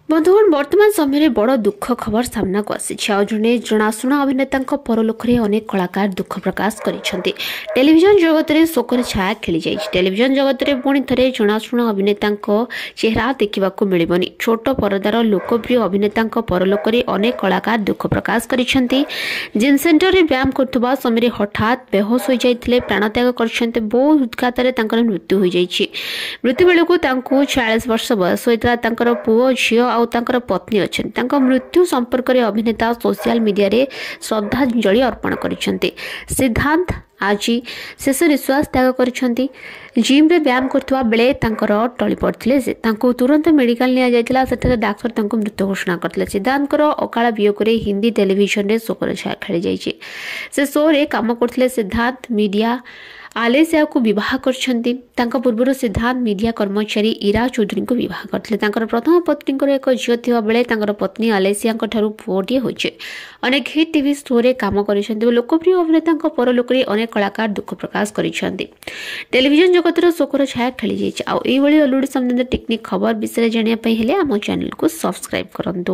ବନ୍ଧୁଗଣ, ବର୍ତ୍ତମାନ ସମୟରେ ବଡ଼ ଦୁଃଖ ଖବର ସାମ୍ନାକୁ ଆସିଛି। ଆଉ ଜଣେ ଜଣାଶୁଣା ଅଭିନେତାଙ୍କ ପରଲୋକରେ ଅନେକ କଳାକାର ଦୁଃଖ ପ୍ରକାଶ କରିଛନ୍ତି। ଟେଲିଭିଜନ ଜଗତରେ ଶୋକର ଛାୟା ଖେଳିଯାଇଛି। ଟେଲିଭିଜନ ଜଗତରେ ପୁଣି ଥରେ ଜଣାଶୁଣା ଅଭିନେତାଙ୍କ ଚେହେରା ଦେଖିବାକୁ ମିଳିବନି। ଛୋଟ ପରଦାର ଲୋକପ୍ରିୟ ଅଭିନେତାଙ୍କ ପରଲୋକରେ ଅନେକ କଳାକାର ଦୁଃଖ ପ୍ରକାଶ କରିଛନ୍ତି। ଜିମ୍ ସେଣ୍ଟରରେ ବ୍ୟାୟାମ କରୁଥିବା ସମୟରେ ହଠାତ୍ ବେହୋସ ହୋଇଯାଇଥିଲେ, ପ୍ରାଣତ୍ୟାଗ କରିଛନ୍ତି। ବହୁ ହୃଦ୍ଘାତରେ ତାଙ୍କର ମୃତ୍ୟୁ ହୋଇଯାଇଛି। ମୃତ୍ୟୁ ବେଳକୁ ତାଙ୍କୁ 46 ବର୍ଷ ବୟସ ହୋଇଥିଲା। ତାଙ୍କର ପୁଅ, ଝିଅ ଆଉ ତାଙ୍କର ପତ୍ନୀ ଅଛନ୍ତି। ତାଙ୍କ ମୃତ୍ୟୁ ସମ୍ପର୍କରେ ଅଭିନେତା ସୋସିଆଲ ମିଡିଆରେ ଶ୍ରଦ୍ଧାଞ୍ଜଳି ଅର୍ପଣ କରିଛନ୍ତି। ସିଦ୍ଧାନ୍ତ ଆଜି ଶେଷ ନିଶ୍ୱାସ ତ୍ୟାଗ କରିଛନ୍ତି। ଜିମ୍ରେ ବ୍ୟାୟାମ କରୁଥିବା ବେଳେ ତାଙ୍କର ଟଳି ପଡ଼ିଥିଲେ ସେ। ତାଙ୍କୁ ତୁରନ୍ତ ମେଡିକାଲ ନିଆଯାଇଥିଲା। ସେଠାରେ ଡାକ୍ତର ତାଙ୍କୁ ମୃତ ଘୋଷଣା କରିଥିଲେ। ସିଦ୍ଧାନ୍ତଙ୍କର ଅକାଳ ବିୟୋଗରେ ହିନ୍ଦୀ ଟେଲିଭିଜନରେ ଶୋକର ଛାୟା ଖେଳିଯାଇଛି। ସେ ଶୋରେ କାମ କରୁଥିଲେ। ସିଦ୍ଧାନ୍ତ ମିଡିଆ ଆଲେସିଆକୁ ବିବାହ କରିଛନ୍ତି। ତାଙ୍କ ପୂର୍ବରୁ ସିଦ୍ଧାନ୍ତ ମିଡିଆ କର୍ମଚାରୀ ଇରା ଚୌଧୁରୀଙ୍କୁ ବିବାହ କରିଥିଲେ। ତାଙ୍କର ପ୍ରଥମ ପତ୍ନୀଙ୍କର ଏକ ଝିଅ ଥିବା ବେଳେ ତାଙ୍କର ପତ୍ନୀ ଆଲେସିଆଙ୍କ ଠାରୁ ପୁଅଟିଏ ହୋଇଛି। ଅନେକ ହିଟ୍ ଟିଭି ଶୋରେ କାମ କରିଛନ୍ତି ଓ ଲୋକପ୍ରିୟ ଅଭିନେତାଙ୍କ ପରଲୋକରେ ଅନେକ କଳାକାର ଦୁଃଖ ପ୍ରକାଶ କରିଛନ୍ତି। ଟେଲିଭିଜନ ଜଗତର ଶୋକର ଛାୟା ଖେଳିଯାଇଛି। ଆଉ ଏଇଭଳି ଅଲିଉଡ୍ ସମ୍ବନ୍ଧିତ ଟେକ୍ନିକ୍ ଖବର ବିଷୟରେ ଜାଣିବା ପାଇଁ ହେଲେ ଆମ ଚ୍ୟାନେଲକୁ ସବସ୍କ୍ରାଇବ୍ କରନ୍ତୁ।